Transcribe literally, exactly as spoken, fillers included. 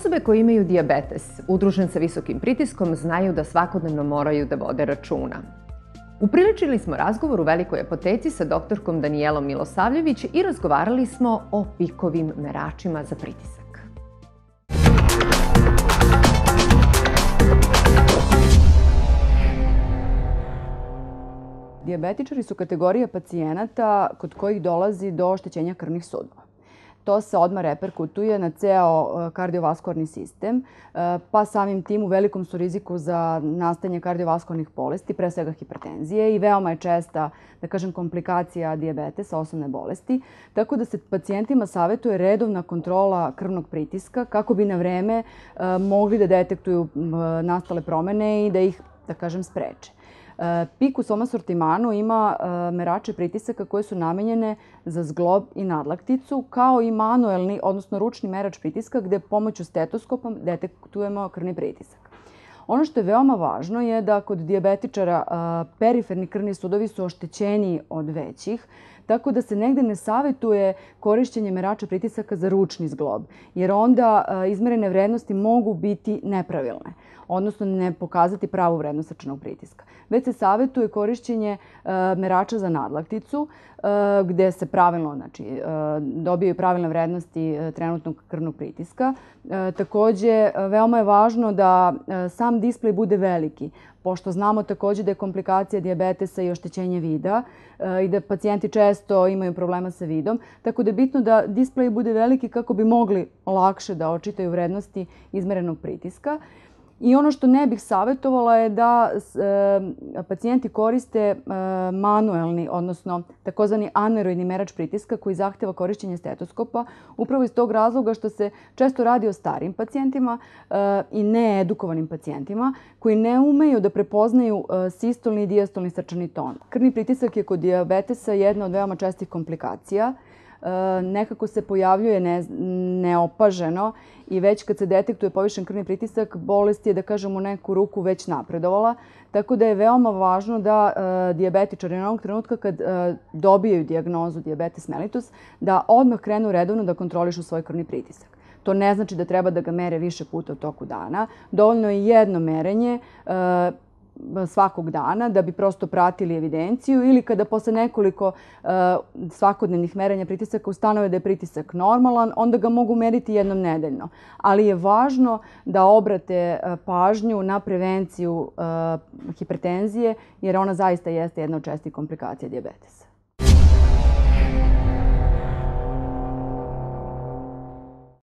Osobe koje imaju dijabetes, udružen sa visokim pritiskom, znaju da svakodnevno moraju da vode računa. Upriličili smo razgovor u Velikoj apoteci sa doktorkom Danijelom Milosavljević i razgovarali smo o pikovim meračima za pritisak. Dijabetičari su kategorija pacijenata kod kojih dolazi do oštećenja krvnih sudova. To se odmah reperkutuje na ceo kardiovaskularni sistem, pa samim tim u velikom su riziku za nastajanje kardiovaskularnih bolesti, pre svega hipertenzije, i veoma je česta, da kažem, komplikacija dijabetesa, osnovne bolesti, tako da se pacijentima savjetuje redovna kontrola krvnog pritiska kako bi na vreme mogli da detektuju nastale promene i da ih, da kažem, spreče. Pik u svom asortimanu ima merače pritisaka koje su namenjene za zglob i nadlakticu, kao i manuelni, odnosno ručni merač pritiska gde pomoću stetoskopa detektujemo krvni pritisak. Ono što je veoma važno je da kod dijabetičara periferni krvni sudovi su oštećeniji od većih, tako da se negde ne savjetuje korišćenje merača pritisaka za ručni zglob, jer onda izmerene vrednosti mogu biti nepravilne, odnosno ne pokazati pravu vrednost srčanog pritiska. Već se savjetuje korišćenje merača za nadlakticu, gde se pravilno, znači, dobijaju pravilne vrednosti trenutnog krvnog pritiska. Takođe, veoma je važno da sam displej bude veliki, pošto znamo takođe da je komplikacija dijabetesa i oštećenje vida i da pacijenti često imaju problema sa vidom, tako da je bitno da displej bude veliki kako bi mogli lakše da očitaju vrednosti izmerenog pritiska. I ono što ne bih savjetovala je da pacijenti koriste manuelni, odnosno takozvani aneroidni merač pritiska koji zahteva korišćenje stetoskopa, upravo iz tog razloga što se često radi o starijim pacijentima i needukovanim pacijentima koji ne umeju da prepoznaju sistolni i dijastolni srčani ton. Krvni pritisak je kod dijabetesa jedna od veoma čestih komplikacija. Nekako se pojavljuje neopaženo i već kad se detektuje povišen krvni pritisak, bolest je, da kažem, u neku ruku već napredovala. Tako da je veoma važno da dijabetičari na onog trenutka kad dobijaju dijagnozu dijabetes mellitus, da odmah krenu redovno da kontrolišu svoj krvni pritisak. To ne znači da treba da ga mere više puta u toku dana. Dovoljno je jedno merenje svakog dana da bi prosto pratili evidenciju, ili kada posle nekoliko svakodnevnih merenja pritisaka ustanove da je pritisak normalan, onda ga mogu meriti jednom nedeljno. Ali je važno da obrate pažnju na prevenciju hipertenzije, jer ona zaista jeste jedna od čestih komplikacija dijabetesa.